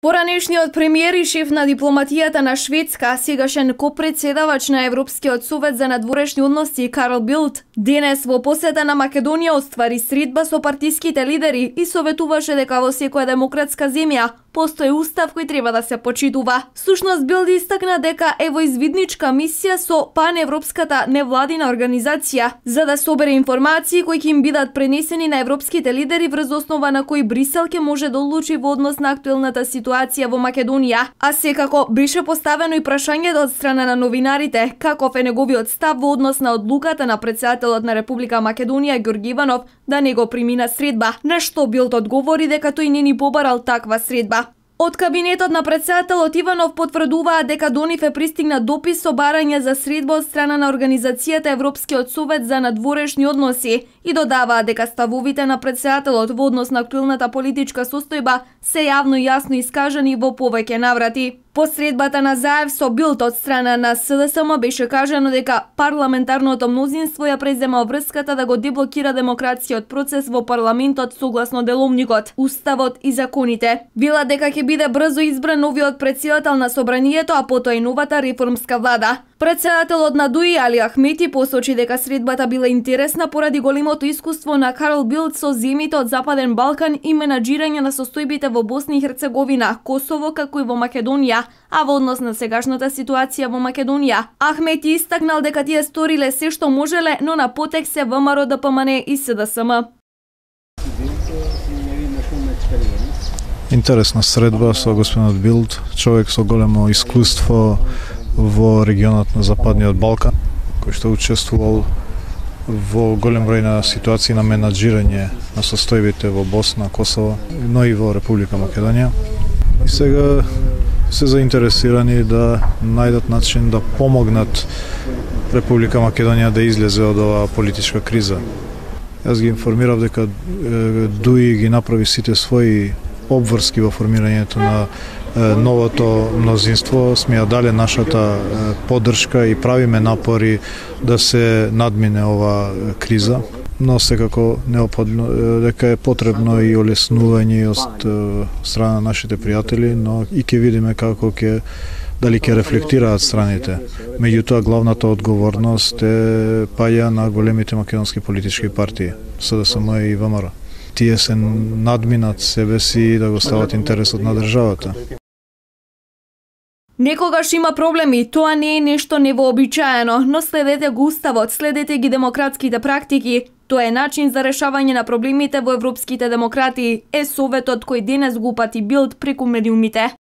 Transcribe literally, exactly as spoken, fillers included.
Поранешниот премиер и шеф на дипломатијата на Шведска, сегашен копредседавач на Европскиот совет за надворешни односи Карл Билт, денес во посета на Македонија оствари средба со партиските лидери и советуваше дека во секоја демократска земја постои устав кој треба да се почитува. Всушност Билт истакна дека е во извидничка мисија со паневропската невладина организација за да собере информации кои ќе им бидат пренесени на европските лидери врз основа на кои Брисел ќе може да одлучи во однос на актуелната ситуација во Македонија. А секако беше поставено и прашањето од страна на новинарите каков е неговиот став во однос на одлуката на претседателот на Република Македонија Ѓорѓе Иванов да не го примина средба, на што Билт одговори дека тој не ни побарал таква средба. Од кабинетот на претседателот Иванов потврдуваат дека до нив е пристигнат допис со барање за средба од страна на организацијата Европскиот совет за надворешни односи и додаваат дека ставовите на претседателот во однос на актуелната политичка состојба се јавно и јасно искажани во повеќе наврати. По средбата на Заев со Билт од страна на С Д С М беше кажано дека парламентарното мнозинство ја презема врската да го деблокира демократскиот процес во парламентот согласно деловникот, уставот и законите. Вела дека ќе биде брзо избран новиот претседател на собранието, а потоа и новата реформска влада. Претседателот на ДУИ Али Ахмети посочи дека средбата била интересна поради големото искуство на Карл Билт со земјите од Западен Балкан и менаџирање на состојбите во Босна и Херцеговина, Косово како и во Македонија, а во однос на сегашната ситуација во Македонија. Ахмети истакнал дека тие сториле се што можеле, но на потек се В М Р Д П М Н и С Д С М. Интересна средба со господинот Билт, човек со големо искуство во регионот на Западниот Балкан, кој што учествувал во голем број на ситуации на менаџирање на состојбите во Босна, Косово, но и во Република Македонија. И сега се заинтересирани да најдат начин да помогнат Република Македонија да излезе од оваа политичка криза. Јас ги информирав дека ДУИ ги направи сите своји обврски во формирањето на новото мнозинство, сме ја дале нашата поддршка и правиме напори да се надмине ова криза, но секако неопходно дека е потребно и олеснување од страна на нашите пријатели, но и ќе видиме како ќе дали ќе рефлектираат страните. Меѓутоа главната одговорност е паѓа на големите македонски политички партии, С Д С М и В М Р. Тие се надминат себе си да го стават интересот на државата. Некогаш има проблеми, тоа не е нешто невообичаено, но следете го уставот, следете ги демократските практики. Тоа е начин за решавање на проблемите во европските демократии, е советот кој денес го упати Билт преку медиумите.